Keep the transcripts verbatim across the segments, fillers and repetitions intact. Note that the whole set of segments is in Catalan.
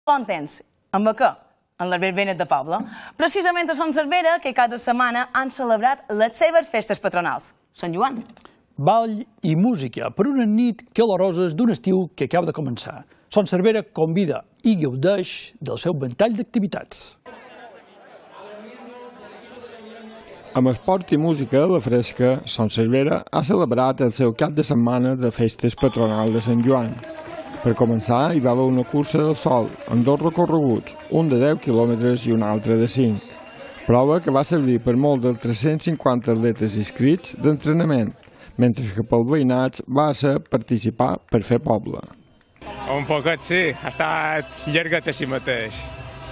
Bon temps. Amb què? En les verbenes de poble. Precisament a Son Servera, que cada setmana han celebrat les seves festes patronals. Sant Joan. Ball i música per una nit caloroses d'un estiu que acaba de començar. Son Servera convida i gaudeix del seu ventall d'activitats. Amb esport i música a la fresca, Son Servera ha celebrat el seu cap de setmana de festes patronals de Sant Joan. Per començar, hi va haver una cursa del sol, amb dos recorreguts, un de deu quilòmetres i un altre de cinc. Prova que va servir per molt dels tres-cents cinquanta atletes inscrits d'entrenament, mentre que pel veïnat va ser participar per fer poble. Un poquet sí, ha estat llarguet a si mateix.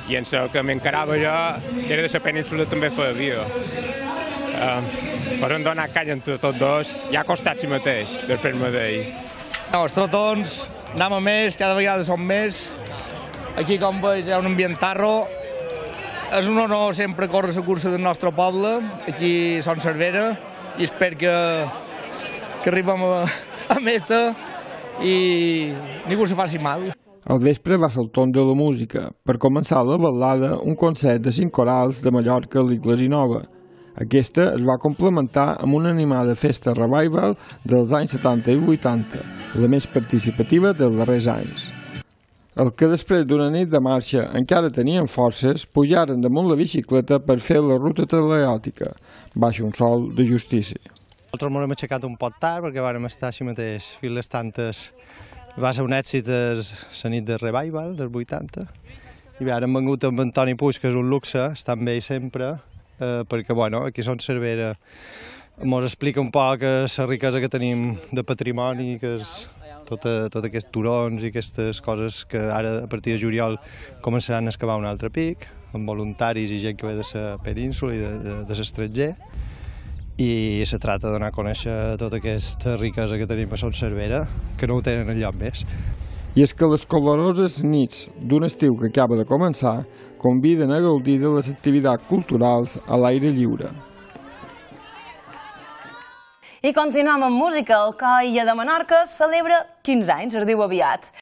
I en el que m'encarava jo, era de la península també feia vídeo. Uh, per on donar canya entre tots dos, ja ha costat si mateix, de fer-me d'ell. No, els trotons, anem a més, cada vegada som més. Aquí, com veus, hi ha un ambient tarro. És un honor sempre córrer la cursa del nostre poble, aquí a Son Servera, i espero que, que arribem a, a meta i ningú se faci mal. Al vespre va ser el torn de la música. Per començar la ballada, un concert de cinc corals de Mallorca a l'Iglesia Nova. Aquesta es va complementar amb una animada festa revival dels anys setanta i vuitanta, la més participativa dels darrers anys. El que després d'una nit de marxa encara tenien forces, pujaren damunt la bicicleta per fer la ruta teleòtica, baix un sol de justícia. Nosaltres ens hem aixecat un poc tard perquè vàrem estar així mateix fins les tantes. Va ser un èxit la nit de revival dels vuitanta i bé, ara hem vengut amb Antoni Puig, que és un luxe, està amb ell sempre, eh, perquè bueno, aquí a Son Servera ens explica un poc la riquesa que tenim de patrimoni, que és tot, tot aquests turons i aquestes coses que ara a partir de juliol començaran a excavar un altre pic, amb voluntaris i gent que ve de la península i de, de, de l'estranger. I se trata de donar a conèixer tota aquesta riquesa que tenim a Son Servera, que no ho tenen enlloc més. I és que les coloroses nits d'un estiu que acaba de començar conviden a gaudir de les activitats culturals a l'aire lliure. I continuem amb música. El Coll de Menorca celebra quinze anys, es diu aviat.